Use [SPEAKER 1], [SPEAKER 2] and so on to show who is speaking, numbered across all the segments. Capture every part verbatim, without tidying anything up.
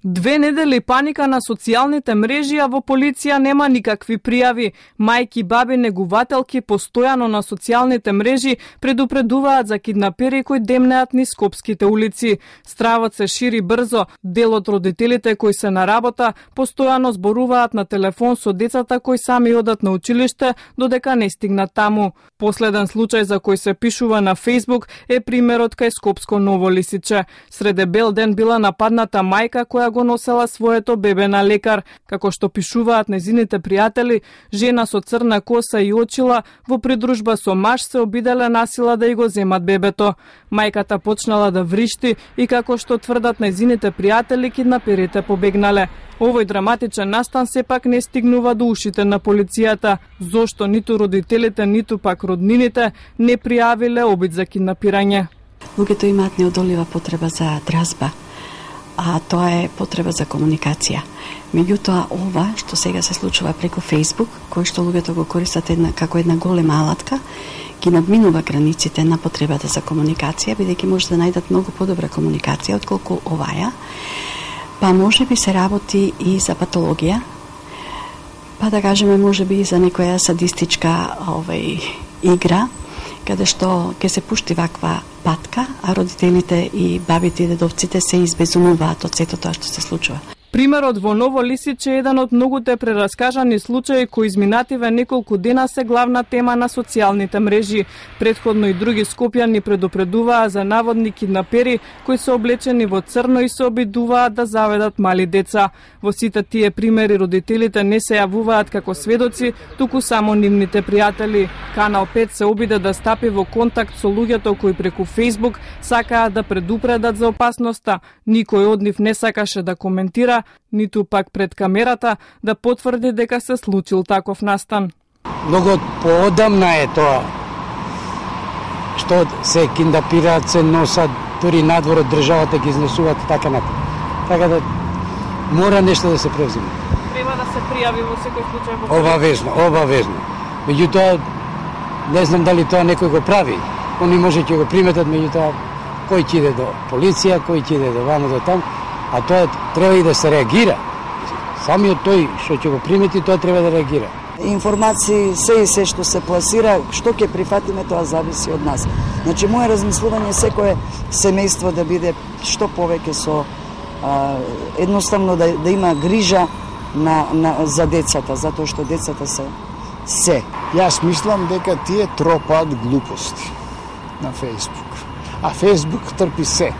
[SPEAKER 1] Две недели паника на социјалните мрежи, а во полиција нема никакви пријави. Мајки, баби, негувателки постојано на социјалните мрежи предупредуваат за киднапери кои демнеат низ скопските улици. Стравот се шири брзо. Дел од родителите кои се на работа постојано зборуваат на телефон со децата кои сами одат на училиште додека не стигнат таму. Последен случај за кој се пишува на Facebook е примерот кај Скопско Ново Лисиче. Среде бел ден била нападната мајка која го носела своето бебе на лекар. Како што пишуваат незините пријатели, жена со црна коса и очила во придружба со маж се обиделе насила да ја го земат бебето. Мајката почнала да вришти и како што тврдат незините пријатели, киднаперите побегнале. Овој драматичен настан сепак не стигнува до ушите на полицијата, зошто ниту родителите, ниту пак роднините не пријавиле обид за киднапирање.
[SPEAKER 2] Луѓето имаат неодолива потреба за дразба, а тоа е потреба за комуникација. Меѓутоа, ова што сега се случува преку Facebook, кој што луѓето го користат една, како една голема алатка, ги надминува границите на потребата за комуникација, бидејќи може да најдат многу подобра комуникација отколку оваја. Па може би се работи и за патологија, па да кажеме може би и за некоја садистичка овај, игра, каде што ќе се пушти ваква патка, а родителите и бабите и дедовците се избезумуваат од сето тоа што се случува.
[SPEAKER 1] Примерот во Ново Лисиче е еден од многуте прераскажани случаи кои изминативе неколку дена се главна тема на социјалните мрежи. Претходно и други скопјани предупредуваа за наводни киднапери кои се облечени во црно и се обидуваат да заведат мали деца. Во сите тие примери родителите не се јавуваат како сведоци, туку само нивните пријатели. Канал пет се обиде да стапи во контакт со луѓето кои преку Facebook сакаат да предупредат за опасноста. Никој од нив не сакаше да коментира, ниту пак пред камерата да потврди дека се случил таков настан.
[SPEAKER 3] Многу поодамна е тоа што се киднапираат, се носат дури надвор од државата, ги изнесуваат така натаму. Така да мора нешто да се превземе.
[SPEAKER 1] Треба да се пријави во секој случај во полиција.
[SPEAKER 3] Обавезно, обавезно. Меѓутоа не знам дали тоа некој го прави. Они може ќе го приметат, меѓутоа кој ќе иде до полиција, кој ќе иде до вамо до таму. А тоа треба и да се реагира. Самиот тој што ќе го примети, тоа треба да реагира.
[SPEAKER 4] Информации, се и се што се пласира, што ќе прифатиме, тоа зависи од нас. Значи, моje размислување секое семејство да биде што повеќе со а, едноставно да, да има грижа на, на, за децата, затоа што децата се се.
[SPEAKER 5] Јас мислам дека тие тропаат глупости на Facebook. А Facebook трпи се.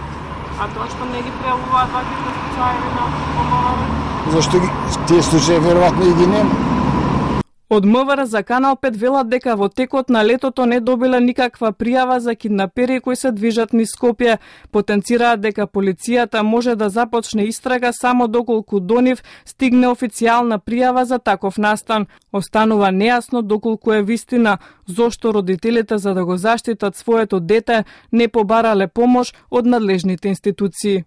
[SPEAKER 1] А тоа што не ги пријавуваат ваквите случаи на ОМВР?
[SPEAKER 5] Зашто ги, тие случаи веројатно и ги нема.
[SPEAKER 1] Од МВР за Канал пет велат дека во текот на летото не добиле никаква пријава за киднапери кои се движат низ Скопје. Потенцираат дека полицијата може да започне истрага само доколку до нив стигне официјална пријава за таков настан. Останува нејасно доколку е вистина зошто родителите за да го заштитат своето дете не побарале помош од надлежните институции.